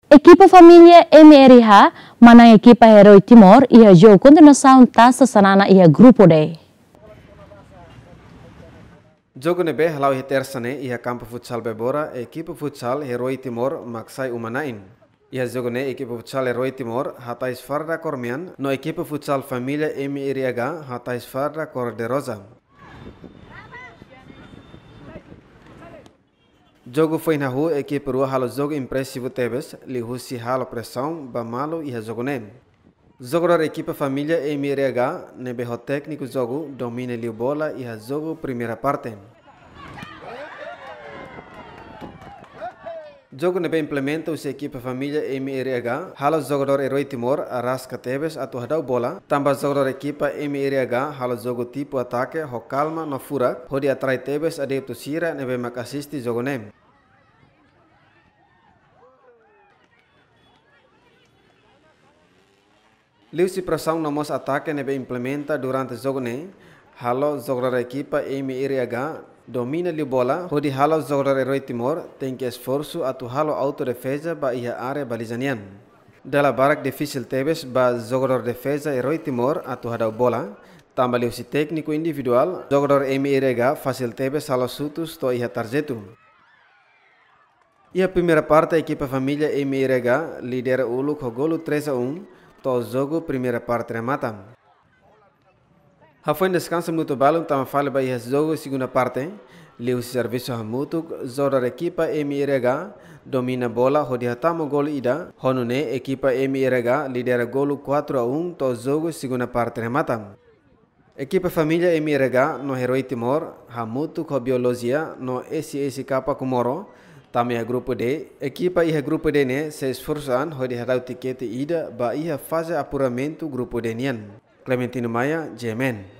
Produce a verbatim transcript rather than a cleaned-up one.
Ekipa família M R I H manán ekipa Herói Timor iha jogu kontinuasaun Tasa Xanana iha grupu D. Jogu ne'ebé hala'o iha Tersa ne'e iha kampu futsal Bebora, ekipa futsal Herói Timor mak sai uma-na'in. Iha jogu ne'e ekipa futsal Herói Timor hatais farda kór mean, no ekipa futsal família M R I H hatais farda kór de roza. Jogu foin hahú, ekipa rua halo jogu impresivu tebes, liuhusi halo presaun ba malu iha jogu ne'e. Jogadór ekipa família M R I H ne'ebé ho tékniku jogu domina liu bola iha jogu primeira parte. Jogu ne'ebé implementa husi ekipa família M R I H, halo jogadór Herói Timor arraska tebes atu hadau bola, tanba jogadór ekipa M R I H halo jogu tipu atake ho kalma no furak, hodi atrai tebes adeptu sira ne'ebé mak asiste jogu ne'e. Liuhusi presaun no mós atake ne'ebé implementa durante jogu ne'e, halo jogadór ekipa M R I H domina liu bola, hodi halo jogadór Herói Timor tenke esforsu atu halo autodefeza ba iha área baliza nian. Dala barak difisil tebes ba jogadór defeza Herói Timor atu hadau bola, tanba liuhusi tékniku individuál, jogadór M R I H fasil tebes halo xutus to'o iha tarjetu. Iha primeira parte, ekipa família M R I H lidera uluk ho golu três a um, to'o jogu primeira parte remata. Hafoin deskansa minutu balun tama fali ba iha jogu segunda parte, liuhusi servisu hamutuk, jogadór ekipa M R I H domina bola hodi hatama golu ida, ho nune'e ekipa M R I H lidera golu quatro a um to'o jogu segunda parte remata. Ekipa família M R I H no Herói Timor, hamutuk ho Biolojia no S S K Comoro, tama iha grupu D. Ekipa iha grupu D ne'e sei esforsu an hodi hadau tikete ida ba iha faze apuramentu grupu D nian. Clementino Maia, G M N.